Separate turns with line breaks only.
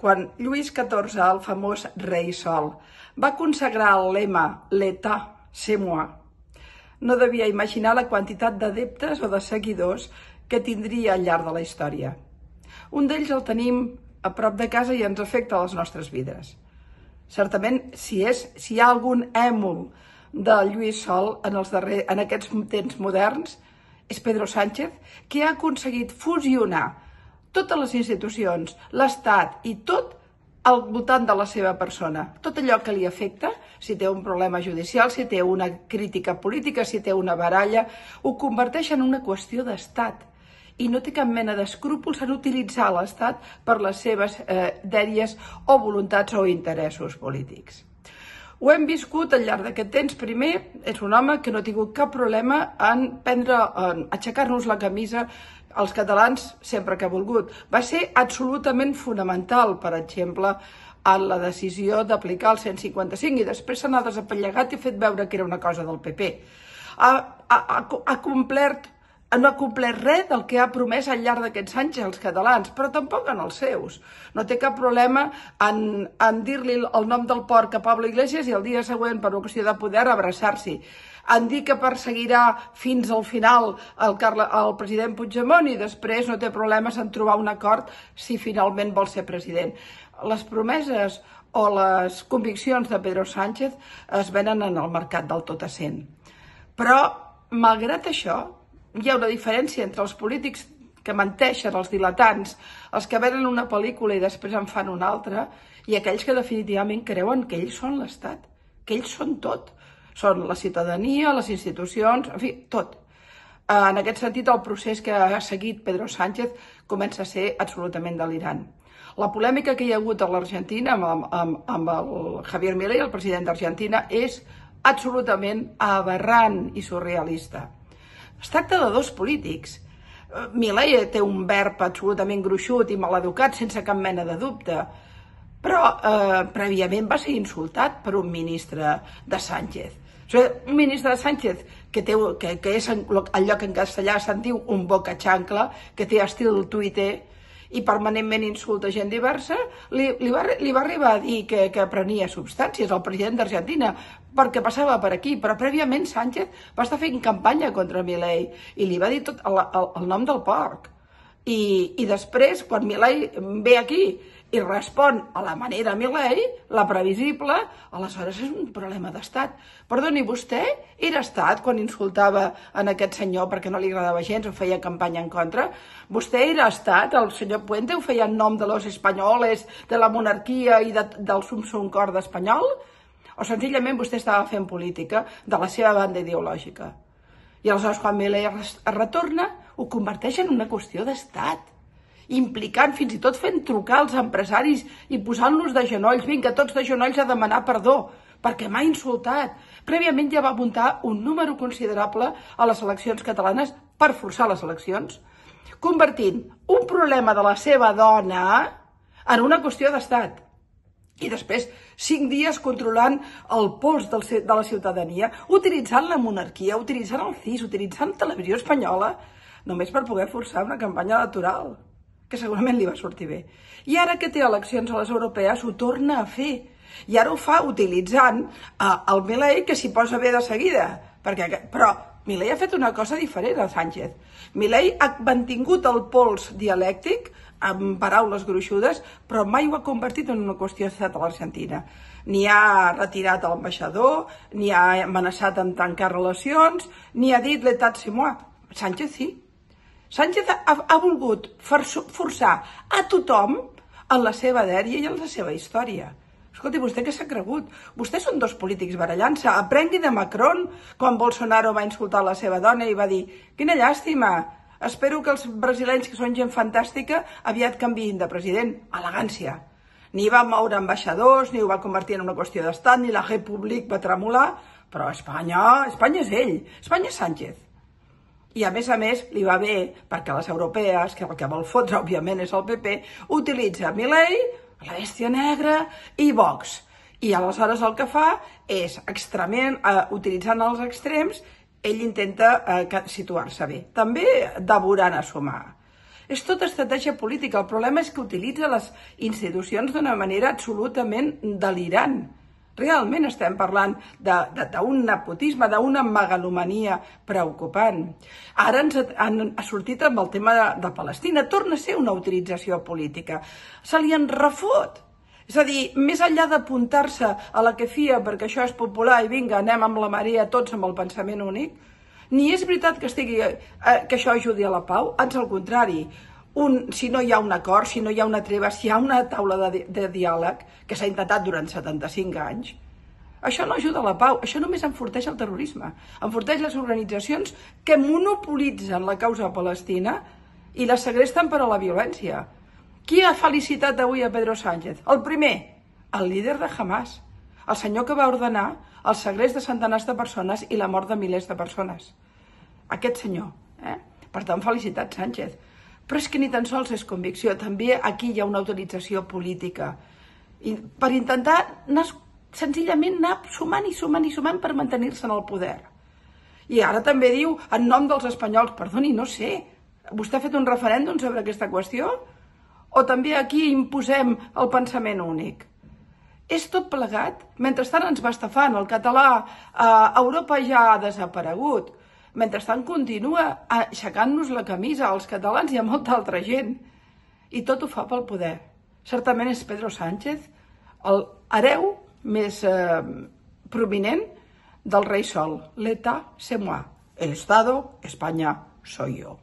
quan Lluís XIV, el famós rei Sol, va consagrar el lema «L'État, c'est moi», no devia imaginar la quantitat d'adeptes o de seguidors que tindria al llarg de la història. Un d'ells el tenim a prop de casa i ens afecta a les nostres vides. Certament, si hi ha algun èmul de Lluís Sol en aquests temps moderns, és Pedro Sánchez, que ha aconseguit fusionar totes les institucions, l'Estat i tot al voltant de la seva persona. Tot allò que li afecta, si té un problema judicial, si té una crítica política, si té una baralla, ho converteix en una qüestió d'Estat. I no té cap mena d'escrúpols en utilitzar l'Estat per les seves dèries o voluntats o interessos polítics. Ho hem viscut al llarg d'aquest temps. Primer, és un home que no ha tingut cap problema en aixecar-nos la camisa als catalans sempre que ha volgut. Va ser absolutament fonamental, per exemple, en la decisió d'aplicar el 155 i després s'ha desapellegat i fet veure que era una cosa del PP. No ha complert res del que ha promès al llarg d'aquests anys als catalans, però tampoc en els seus. No té cap problema en dir-li el nom del porc a Pablo Iglesias i el dia següent, per una qüestió de poder, abraçar-s'hi. En dir que perseguirà fins al final el president Puigdemont i després no té problemes en trobar un acord si finalment vol ser president. Les promeses o les conviccions de Pedro Sánchez es venen en el mercat del tot a 100. Però, malgrat això, hi ha una diferència entre els polítics que menteixen, els diletants, els que venen una pel·lícula i després en fan una altra, i aquells que definitivament creuen que ells són l'Estat, que ells són tot. Són la ciutadania, les institucions, en fi, tot. En aquest sentit, el procés que ha seguit Pedro Sánchez comença a ser absolutament delirant. La polèmica que hi ha hagut a l'Argentina amb el Javier Milei, el president d'Argentina, és absolutament aberrant i surrealista. Es tracta de dos polítics. Milei té un verb absolutament gruixut i maleducat, sense cap mena de dubte, però prèviament va ser insultat per un ministre de Sánchez. Un ministre de Sánchez que és allò que en castellà se'n diu un boca xancla, que té estil Twitter i permanentment insulta gent diversa, li va arribar a dir que prenia substàncies al president d'Argentina perquè passava per aquí, però prèviament Sánchez va estar fent campanya contra Milei i li va dir tot el nom del porc. I després, quan Milei ve aquí i respon a la manera Milei, la previsible, aleshores és un problema d'estat. Perdoni, vostè era estat quan insultava en aquest senyor perquè no li agradava gens o feia campanya en contra? Vostè era estat, el senyor Puente ho feia en nom de los espanyoles, de la monarquia i del sum cor espanyol? O senzillament vostè estava fent política de la seva banda ideològica? I aleshores, quan Milei es retorna, ho converteix en una qüestió d'estat, implicant, fins i tot fent trucar als empresaris i posant-los de genolls, vinga, tots de genolls a demanar perdó, perquè m'ha insultat. Prèviament ja va muntar un número considerable a les eleccions catalanes per forçar les eleccions, convertint un problema de la seva dona en una qüestió d'estat. I després, 5 dies controlant el pols de la ciutadania, utilitzant la monarquia, utilitzant el CIS, utilitzant televisió espanyola, només per poder forçar una campanya electoral, que segurament li va sortir bé. I ara que té eleccions a les europees, ho torna a fer. I ara ho fa utilitzant el Milei, que s'hi posa bé de seguida. Però Milei ha fet una cosa diferent a Sánchez. Milei ha mantingut el pols dialèctic, amb paraules gruixudes, però mai ho ha convertit en una qüestió d'estat a l'Argentina. Ni ha retirat l'ambaixador, ni ha amenaçat amb tancar relacions, ni ha dit l'État c'est moi. Sánchez sí. Sánchez ha volgut forçar a tothom en la seva dèria i en la seva història. Escolti, vostè què s'ha cregut? Vostès són dos polítics barallant-se. Aprengui de Macron quan Bolsonaro va insultar la seva dona i va dir «Quina llàstima! Espero que els brasilenys, que són gent fantàstica, aviat canviïn de president». Elegància. Ni va moure ambaixadors, ni ho va convertir en una qüestió d'estat, ni la República va tremolar, però Espanya és ell, Espanya és Sánchez. I a més, li va bé perquè les europees, que el que vol fotre, òbviament, és el PP, utilitza Milei, la bèstia negra i Vox. I aleshores el que fa és, utilitzant els extrems, ell intenta situar-se bé. També devorant a sumar. És tota estratègia política. El problema és que utilitza les institucions d'una manera absolutament delirant. Realment estem parlant d'un nepotisme, d'una megalomania preocupant. Ara ha sortit amb el tema de Palestina. Torna a ser una utilització política. Se li en refot. És a dir, més enllà d'apuntar-se a la que fia perquè això és popular i vinga, anem amb la marea tots amb el pensament únic, ni és veritat que això ajudi a la pau, ans al contrari. Si no hi ha un acord, si no hi ha una treva, si hi ha una taula de diàleg que s'ha intentat durant 75 anys, això no ajuda a la pau, això només enforteix el terrorisme, enforteix les organitzacions que monopolitzen la causa palestina i la segresten per a la violència. Qui ha felicitat avui a Pedro Sánchez? El primer, el líder de Hamas, el senyor que va ordenar el segrest de centenars de persones i la mort de milers de persones. Aquest senyor. Per tant, felicitat, Sánchez. Però és que ni tan sols és convicció, també aquí hi ha una utilització política. I per intentar senzillament anar sumant i sumant i sumant per mantenir-se en el poder. I ara també diu, en nom dels espanyols, perdoni, no sé, vostè ha fet un referèndum sobre aquesta qüestió? O també aquí imposem el pensament únic? És tot plegat. Mentrestant ens va estafant. El català a Europa ja ha desaparegut. Mentrestant continua aixecant-nos la camisa als catalans i a molta altra gent. I tot ho fa pel poder. Certament és Pedro Sánchez el hereu més prominent del rei Sol. L'État, c'est moi. El Estado, España, soy yo.